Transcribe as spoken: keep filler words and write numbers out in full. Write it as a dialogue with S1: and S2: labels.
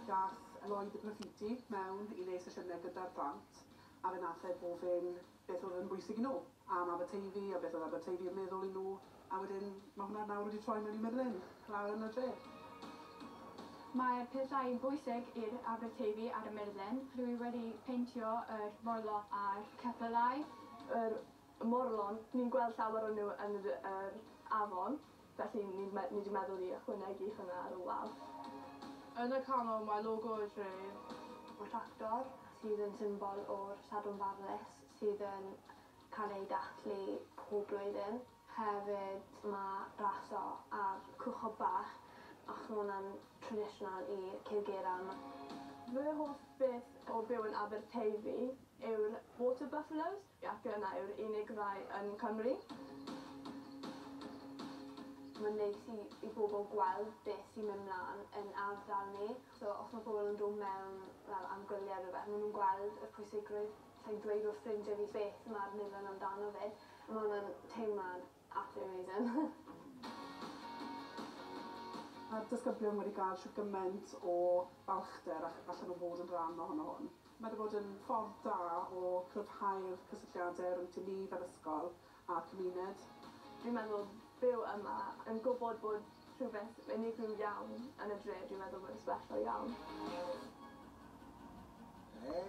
S1: Dath Lloyd y Graffiti mewn i wneud sesiynau gyda'r plant, a fe nath e gofyn beth oedd yn bwysig i nhw am Aberteifi a beth oedd Aberteifi yn meddwl i nhw, a wedyn mae hwnna nawr wedi troi mewn i murlun lawr yn y dre.
S2: Mae'r pethau bwysig i'r Aberteifi ar y murlun. Dwi wedi peintio yr morlo a'r ceffylau.
S3: Yr morlon, ni'n gweld llawer o nhw yn yr, yr afon, felly ni, ni wedi meddwl i ychwanegu hwnna ar y wal.
S4: Yn y canol mae logo y dref.
S5: Mae tractor sydd yn symbol o'r Sadwrn Barnus sydd yn cael ei dathlu pob blwyddyn. Hefyd mae raso ar cwchod bach, achos mae hwnna'n traditional i Cilgerran.
S3: Fy hoff beth o byw yn Aberteifi yw'r water buffaloes, ac yna yw'r unig rai yn Cymru.
S5: Mae'n neis i, i bobl gweld beth sy'n mynd mlaen yn ardal ni. So os mae pobl yn dod mewn fel am gwyliau rhywbeth, maen nhw'n gweld y pwysigrwydd. Sa'n dweud wrth ffrindiau fi beth mae'r murlun amdano fe. Mae hwnna'n teimlad absolutely amazing.
S1: Mae'r disgyblion wedi cael shwt gymaint o balchder ac allan nhw fod yn rhan ohono hwn. Mae wedi bod yn ffordd da o cryfhau'r cysylltiadau rhwng ni fel ysgol a'r cymuned.
S3: Dwi'n meddwl byw yma yn gwybod bod rhywbeth unigryw iawn yn y dre, dwi'n meddwl bod yn special iawn.
S6: Hey.